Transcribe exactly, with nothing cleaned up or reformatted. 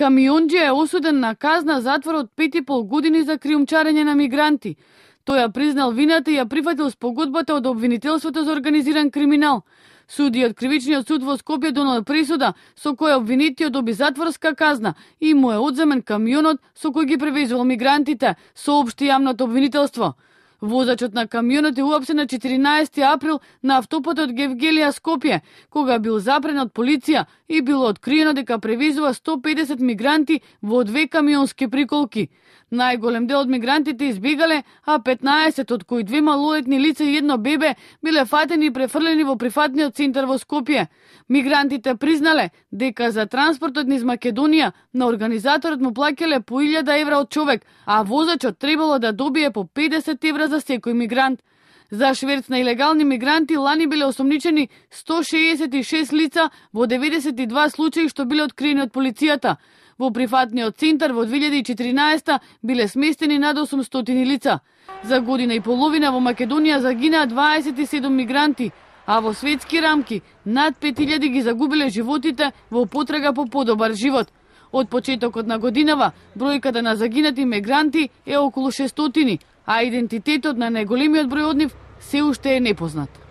Камионџија е осуден на казна затвор од пет и пол години за криумчарење на мигранти. Тој ја признал вината и ја прифатил спогодбата од обвинителството за организиран криминал. Судиот кривичниот суд во Скопје донел присуда со која обвинетиот доби затворска казна и му е одземен камионот со кој ги превезувал мигрантите, соопшти јавното обвинителство. Возачот на камионот е уапсен на четиринаесети април на автопатот Гевгелија Скопје, кога бил запрен од полиција и било откриено дека превезува сто и педесет мигранти во две камионски приколки. Најголем дел од мигрантите избегале, а петнаесет, од кои две малолетни лица и едно бебе, биле фатени и префрлени во прифатниот центар во Скопје. Мигрантите признале дека за транспортот низ Македонија на организаторот му плаќале по илјада евра од човек, а возачот требало да добие по педесет евра за секој мигрант. За шверц на илегални мигранти лани биле осомничени сто шеесет и шест лица во деветдесет и два случаи што биле откриени од полицијата. Во прифатниот центар во две илјади и четиринаесета биле сместени над осумстотини лица. За година и половина во Македонија загинаа дваесет и седум мигранти, а во светски рамки над пет илјади ги загубиле животите во потрага по подобар живот. Од почетокот на годинава бројката на загинати мигранти е околу шестстотини, а идентитетот на најголемиот број од нив се уште е непознат.